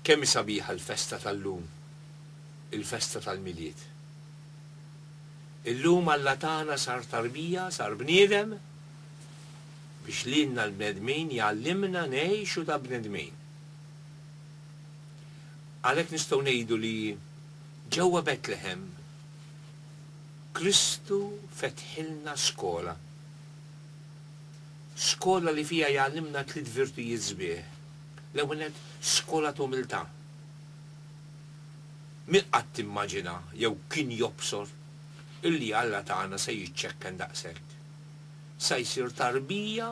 Kemm hi sabiħa l-festa tal-lum, il-festa tal-Milied. Illum Alla tagħna sar tarbija, sar bniedem, biex lilna l-bnedmin jgħallimna ngħixu ta' bnedmin. Għalhekk nistgħu ngħidu li ġewwa Betlehem Kristu fetħilna skola. Skola li fiha jgħallimna tliet virtujiet sbieħ. L-ewwel nett, skola t'umiltà. Min qatt immaġina jew kien jobsor illi Alla tagħna se jiċċekken daqshekk? Sa jsir tarbija,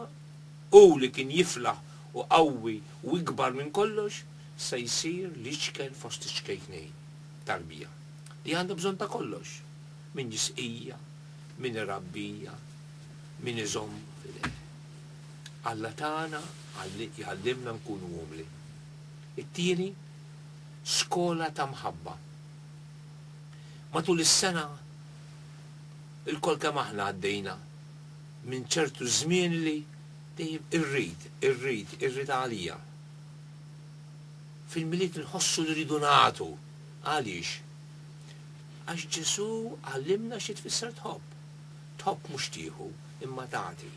hu li kien jiflaħ u qawwi u ikbar minn kollox, se jsir l-iċken fost iċ-ċkejknin, tarbija, li għandha bżonn ta' kollox, min jisqija, min irabbija, min iżommha f'idejh. Alla tagħna jgħallimna nkunu umli. It-tieni, skola ta' mħabba. Matul is-sena, ilkoll kemm aħna għaddejna minn ċertu żmien li dejjem irrid, irrid, irrid għalija. Fil-Milied nħossu li rridu nagħtu. Għaliex? Għax Ġesù għallimna xi tfisser tħobb. Tħobb mhux tieħu, imma tagħti.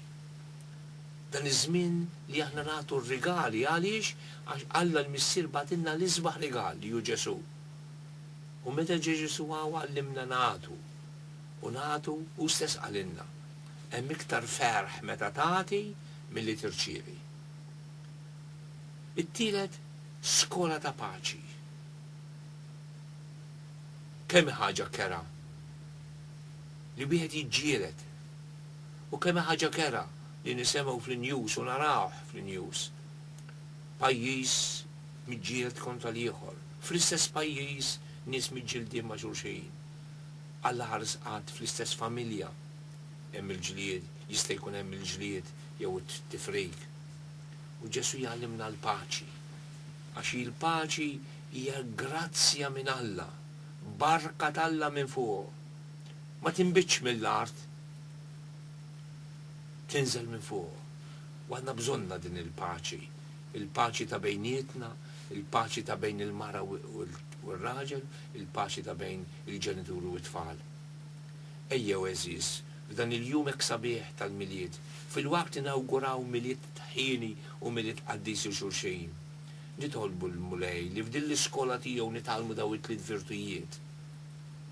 Dan iż-żmien li aħna nagħtu r-rigali għaliex? Għax Alla l-Missier bagħtilna l-isbaħ rigal li hu Ġesù. U meta ġie Ġesù hawn għallimna nagħtu. U nagħtu, hu stess qalilna, hemm iktar ferħ meta tagħti milli tirċievi. It-tielet, skola ta' paċi. Kemm hi ħaġa kerha li wieħed jiġġieled u kemm hi ħaġa kerha li nisemgħu fl-news u narawh fl-news. Pajjiż miġġieled kontra l-ieħor, fl-istess pajjiż nies miġġieldin ma' xulxin. Alla ħares qatt fl-istess familja hemm il-ġlied, jista' jkun hemm il-ġlied jew it-tifrik. U Ġesù jgħallimna l-paċi. Għax hi l-paċi hija grazzja minn Alla, barka t'Alla minn fuq. Ma tinbitx mill-art, tinżel minn fuq. U għandna bżonnha din il-paċi, il-paċi ta' bejnietna, il-paċi ta' bejn il-mara u r-raġel, il-paċi ta' bejn il-ġenituri u t-tfal. Ejjew għeżież, f'dan il-jum hekk sabiħ tal-Milied, filwaqt li nawguraw Milied ħieni u Milied qaddis lil xulxin, nitolbu lill-Mulej li f'din l-iskola tiegħu nitgħallmu dawn it-tliet virtujiet,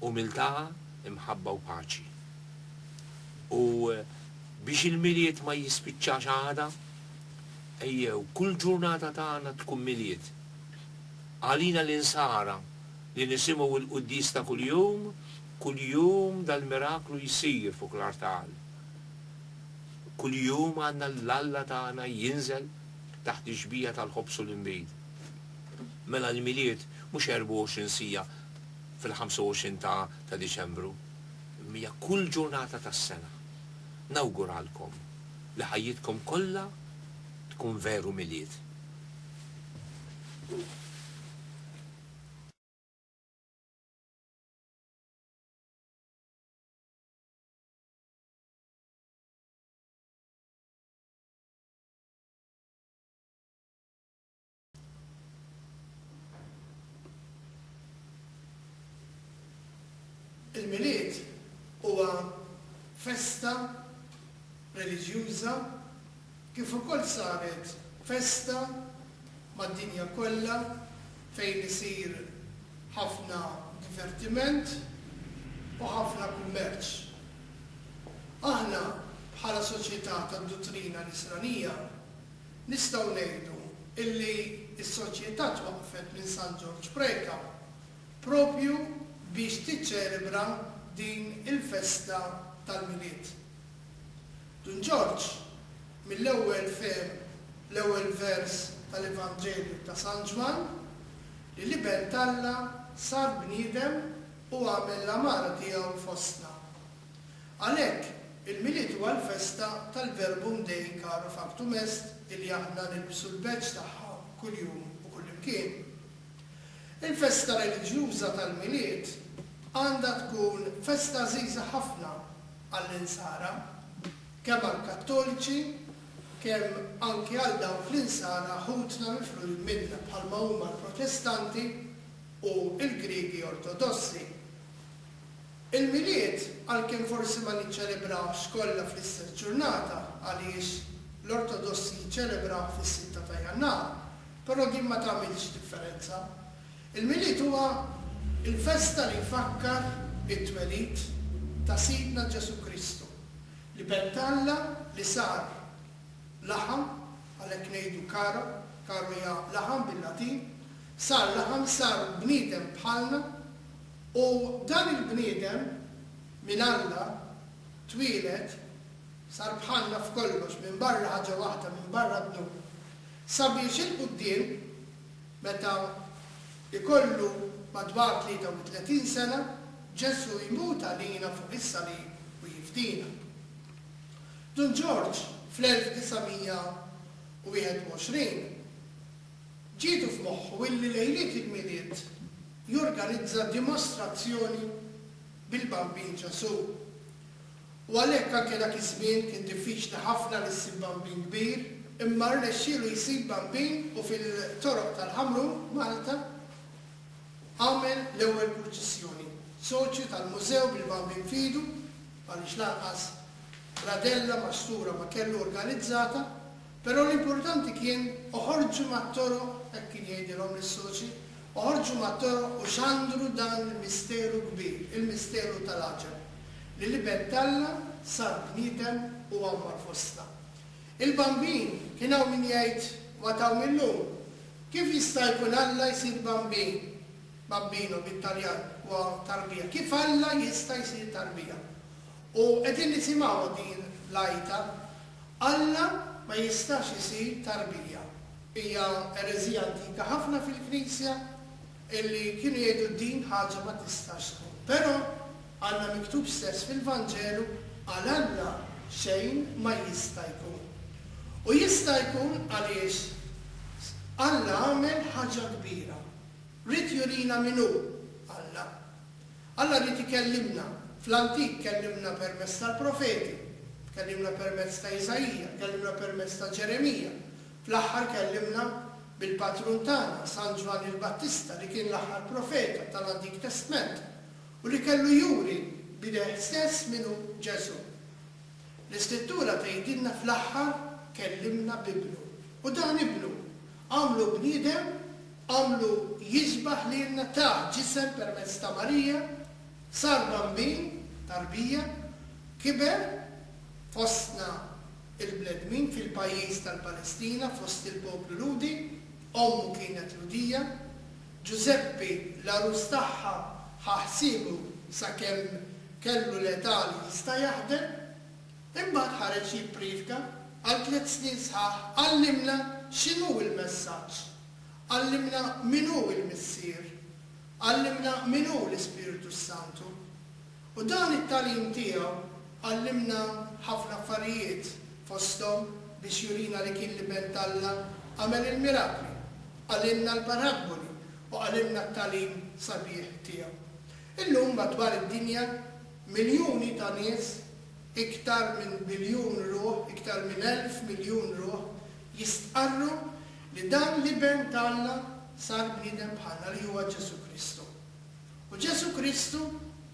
umiltà, imħabba u paċi. U biex il-Milied ma jispiċċax għada, ejjew kull ġurnata tagħna tkun Milied. Għalina l-Insara li nisimgħu l-quddies ta' kuljum, kuljum dal-miraklu jsir fuq l-artal. Kuljum għandna l-Alla tagħna jinżel taħt ix-xbieha tal-ħobż u l-inbid. Mela l-Milied mhux 24 siegħa fil-25 ta' ta' Diċembru, imma hija kull ġurnata tas-sena. Nawguralkom li ħajjitkom kollha tkun veru Milied. Il-Milied huwa festa reliġjuża kif ukoll saret festa mad-dinja kollha fejn isir ħafna divertiment u ħafna kummerċ. Aħna bħala soċjetà tad-duttrina Nisranija nistgħu ngħidu illi s-soċjetà twaqqfet minn San Ġorġ Preca proprju biex tiċċelebra din il-festa tal-Milied. Dun Ġorġ mill-ewwel fehem l-ewwel vers tal-Evanġelju ta' San Ġwann li l-Iben t'Alla sar bniedem u għamel l-għamara tiegħu fostna. Għalhekk, il-Milied huwa l-festa tal-Verbum Dei Caro Factum Est illi aħna nilbsu l-badge tagħha kuljum u kullimkien. Il-festa reliġjuża tal-Milied għandha tkun festa għażiża ħafna għall-Insara, kemm għall-Kattoliċi, kemm anki għal dawk l-Insara ħutna mifrudin minna bħalma huma l-Protestanti u l-Griegi Ortodossi. Il-Milied, għalkemm forsi ma niċċelebrawhx kollha fl-istess ġurnata għaliex l-Ortodossi jiċċelebrawh fis-sitta ta' Jannar, però din ma tagħmilx differenza. Il-Milied huwa l-festa li jfakkar it-twelid ta' Sidna Ġesù Kristu, l-Iben t'Alla li sar laħam, għalhekk ngħidu caro, caro hija laħam bil-Latin, sar laħam, sar bniedem bħalna, u dan il-bniedem minn Alla twieled, sar bħalna f'kollox minbarra ħaġa waħda, minbarra d-dnub, sabiex 'il quddiem, Meta jkollu madwar 33 sena, Ġesù jmut għalina fuq is-salib u jifdina. Dun Ġorġ fl-1921 ġietu f'moħħu illi lejliet il-Milied jorganizza dimostrazzjoni bil-Bambin Ġesù. U għalhekk anke dak iż-żmien kien diffiċli ħafna li ssib bambin kbir, imma rnexxielu jsib bambin u fil-toroq tal-Ħamrun, Malta, għamel l-ewwel purċissjoni. Soċju tal-mużew bil-bambin f'idu, għaliex lanqas bradella maxtura ma kellu organizzata, però l-importanti kien oħorġu mat-toroq, hekk kien jgħidilhom lis-soċji, oħorġu mat-toroq u xandru dan il-misteru kbir, il-misteru tal-għaġeb. Li l-Iben t'Alla sar bniedem u għammar fostna. Il-Bambin, kien hawn min jgħid, u għad hawn illum, kif jista' jkun Alla jsir bambin? Bambino bit-Taljan huwa tarbija. Kif Alla jista' jsir tarbija? U qegħdin nisimgħuha din l-għajta, Alla ma jistax isir tarbija. Hija ereżija antika ħafna fil-Knisja illi kienu jgħidu din ħaġa ma tistax tkun. Però għandna miktub stess fil-Vanġelu għal Alla xejn ma jista' jkun. U jista' jkun għaliex Alla għamel ħaġa kbira. Ried jurina min hu Alla. Alla ried ikellimna. Fl-antik kellimna permezz tal-profeti, kellimna permezz ta' Iżaija, kellimna permezz ta' Ġeremija. Fl-aħħar kellimna bil-patrun tagħna, San Ġwann il-Battista, li kien l-aħħar profeta tal-Antik Testment u li kellu juri b'idejh stess min hu Ġesù. L-Iskrittura tgħidilna fl-aħħar kellimna b'Ibnu. U dan Ibnu għamlu bniedem, għamlu jixbah lilna, tah ġisem permezz ta' Marija, sar bambin, tarbija, kiber fostna il-bnedmin fil-pajjiż tal-Palestina fost il-poplu Lhudi, ommu kienet Lhudija, Ġużeppi l-għarus tagħha ħa ħsiebu sakemm kellu l-età li jista' jaħdem, imbagħad ħareġ jippriedka għal tliet snin sħaħ għallimna x'inhu l-messaġġ, għallimna min hu l-Missier, għallimna min hu l-Ispirtu s-Santu. U dan it-tagħlim tiegħu għallimna ħafna affarijiet, fosthom biex jurina li kien l-Iben t'Alla għamel il-mirakli, qalilna l-parabboli u qalilna t-tagħlim sabiħ tiegħu. Illum madwar id-dinja miljuni ta' nies, iktar minn biljun ruħ, iktar minn 1,000 miljun ruħ, jistqarru li dan l-Iben t'Alla sar bniedem bħalna li huwa Ġesù Kristu. U Ġesù Kristu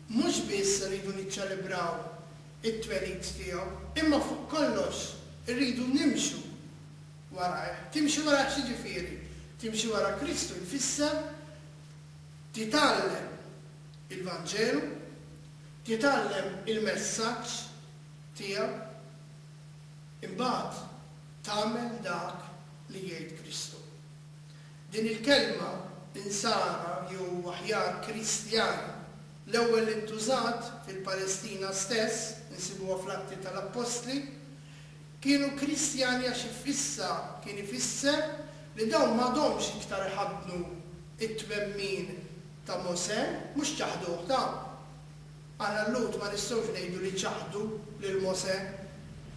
mhux biss irridu niċċelebraw it-twelid tiegħu, imma fuq kollox irridu nimxu warajh. Timxi warajh x'jiġifieri? Timxi wara Kristu jfisser titgħallem il-Vanġelu, titgħallem il-messaġġ tiegħu, imbagħad tagħmel dak li jgħid Kristu. Din il-kelma Insara jew aħjar Kristjani l-ewwel li ntużat fil-Palestina stess, insibuha fl-Atti tal-Appostli, kienu Kristjani għax issa kien ifisser li dawn m'għadhomx iktar iħaddnu t-twemmin ta' Mosè, mhux ċaħduh ta'. Aħna l-Lhud ma nistgħux ngħidu li ċaħdu lil Mosè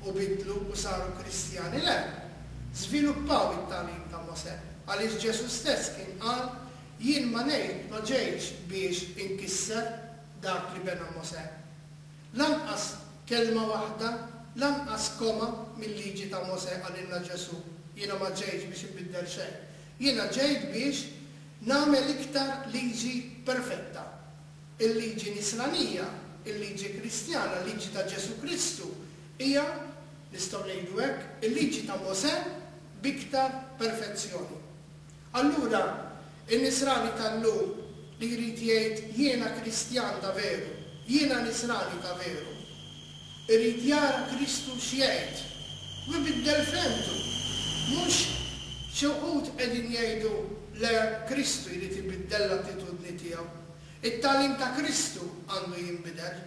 u bidlu u saru Kristjani, le! Żviluppaw it-tagħlim ta' Mosè, għaliex Ġesù stess kien qal, Jien ma ngħid, ma ġejtx biex inkisser dak li bena Mosè. Lanqas kelma waħda. Lanqas koma mil-liġi ta' Mosè qalilna Ġesù, jiena ma ġejtx biex inbiddel xejn. Jiena ġejt biex nagħmel iktar liġi perfetta. Il-liġi nisranija, il-liġi Kristjana, il-liġi ta' Ġesù Kristu hija, nistgħu ngħidu hekk, il-liġi ta' Mosè b'iktar perfezzjoni. Allura, in-Nisrani tal-lum li jrid jgħid jiena Kristjan ta' veru, jiena Nisrani ta' veru, irid jara Kristu x'jgħid u jbiddel fehmtu. Mhux xi wħud qegħdin jgħidu le Kristu jrid ibiddel l-attitudni tiegħu. It-tagħlim ta' Kristu għandu jinbidel.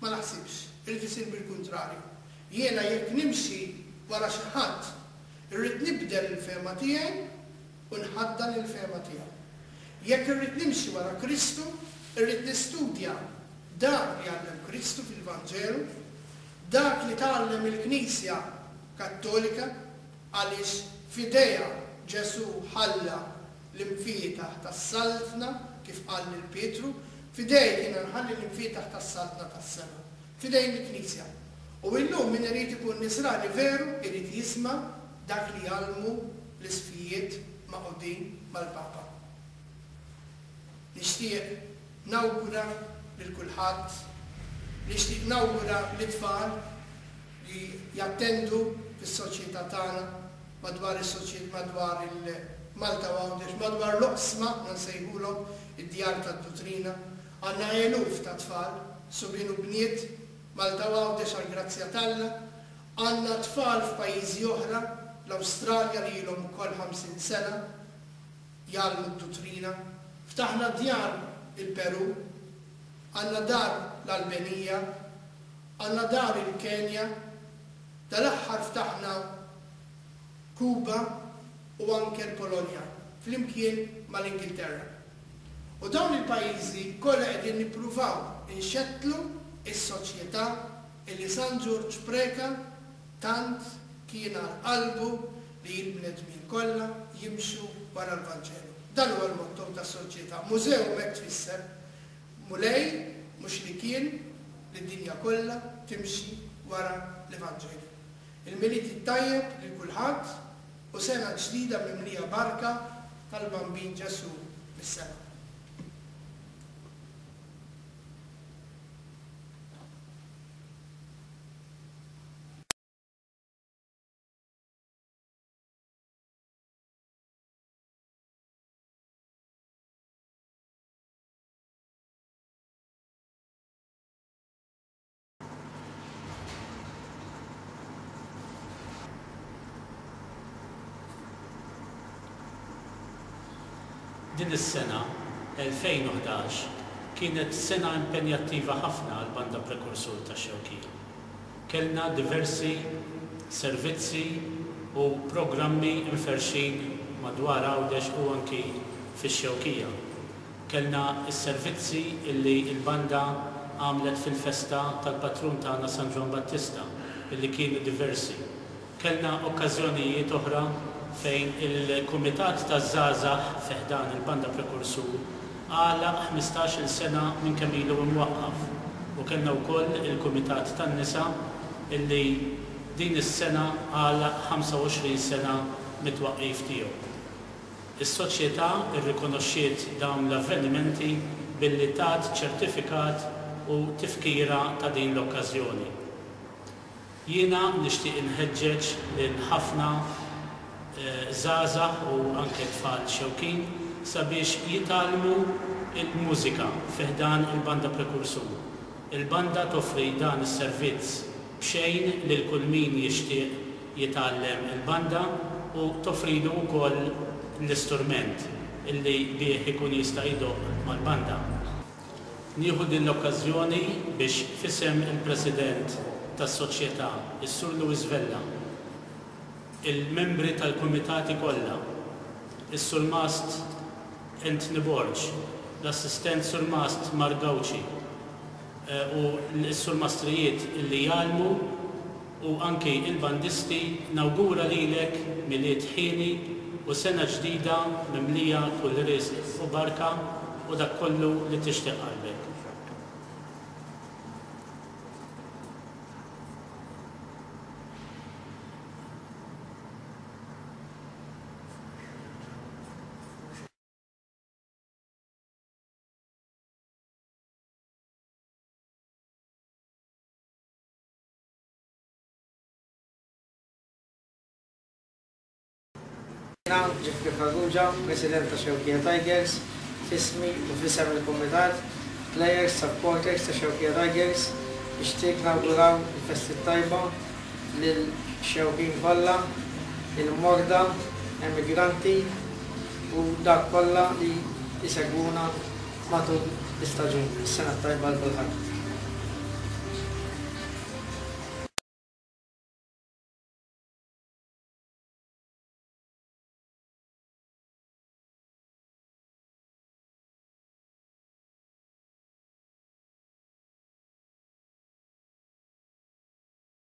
Ma naħsibx. Irid isir bil-kuntrarju. Jiena jekk nimxi wara xi ħadd Irrid nibdel il-fehma tiegħi u nħaddan il-fehma tiegħu. Jekk irrid nimxi wara Kristu, irrid nistudja dak li għallem Kristu fil-Vanġelu, dak li tgħallem il-Knisja Kattolika, għaliex f'idejha Ġesù ħalla l-imfietaħ tas-Saltna, kif qal lil Pietru, F'idejk jiena nħalli l-imfietaħ tas-Saltna tas-sema. F'idejn il-Knisja. U illum min irid ikun Nisrani veru irid jisma' dak li jgħallmu l-Isqfijiet magħqudin mal-Papa. Nixtieq nawgura lil kulħadd, nixtieq nawgura lit-tfal li jattendu fis-soċjetà tagħna madwar is-soċjet madwar il-Malta u Għawdex, madwar l-oqsma aħna nsejħulhom id-djar tad-duttrina. Għandna eluf ta' tfal, subien u bniet, Malta u Għawdex għall-grazzja t'Alla. Għandna tfal f'pajjiżi oħra, l-Awstralja li ilhom ukoll 50 sena jgħallmu d-duttrina. Ftaħna djar il-Perù, għandna dar l-Albenija, għandna dar il-Kenja, dal-aħħar ftaħna Kuba u anke l-Polonja flimkien mal-Ingilterra. U dawn il-pajjiżi kollha qegħdin nippruvaw inxettlu s-soċjetà illi San Ġorġ Preca tant kien għal qalbu li l-bnedmin kollha jimxu wara l-Vanġelu. Dan huwa l-motto tas-soċjetà. Museum hekk tfisser, Mulej mhux li kien li d-dinja kollha timxi wara l-Evanġelju. Il-Milied it-tajjeb lil kulħadd u sena ġdida mimlija barka tal-Bambin Ġesù mis-sema. Din is-sena, 2011, kienet sena impenjattiva ħafna għall-Banda Prekursur tax-Xewkija. Kellna diversi servizzi u programmi mferrxin madwar Għawdex u anki fix-Xewkija. Kellna s-servizzi illi l-banda għamlet fil-festa tal-patrun tagħna San Ġwann Battista illi kienu diversi. Kellna okkażjonijiet oħra fejn il-Kumitat taż-Żgħażagħ fi ħdan il-Banda Prekursur għalaq ħmistax-il sena minn kemm ilu imwaqqaf u kellna wkoll il-Kumitat tan-Nisa illi din is-sena għalaq 25 sena mit-twaqqif tiegħu. Is-Soċjetà rrikonoxxiet dawn l-avvenimenti billi tat ċertifikat u tifkira ta' din l-okkażjoni. Jiena nixtieq inħeġġeġ lil ħafna żgħażagħ u anke tfal Xewkin sabiex jitgħallmu l-mużika fi ħdan il-Banda Prekursur. Il-banda toffri dan is-servizz b'xejn lil kull min jixtieq jitgħallem il-banda u toffrilu wkoll l-isturment illi bih ikun jista' jdoqq mal-banda. Nieħu din l-okkażjoni biex f'isem il-President tas-Soċjetà, is-Sur Louis Vella, il-membri tal-kumitati kollha, is-Surmast Anthony Borg, l-Assistent Surmast Mark Gauci u s-surmastrijiet illi jgħallmu u anki il-bandisti nawgura lilek Milied ħieni u sena ġdida mimlija kull riżq u barka u dak kollu li tixtieq qalbek. Jiena, Jeffrey Farrugia, President ta' Xewkija Tigers, f'ismi u f'isem il-Kumitat, Players, Supporters ta' Xewkija Tigers, nixtieq nawguraw il-festi t-tajba lil Xewkin kollha, il-morda, emigranti u dawk kollha li jsegwuna matul l-istaġun. Is-sena t-tajba għal kulħadd.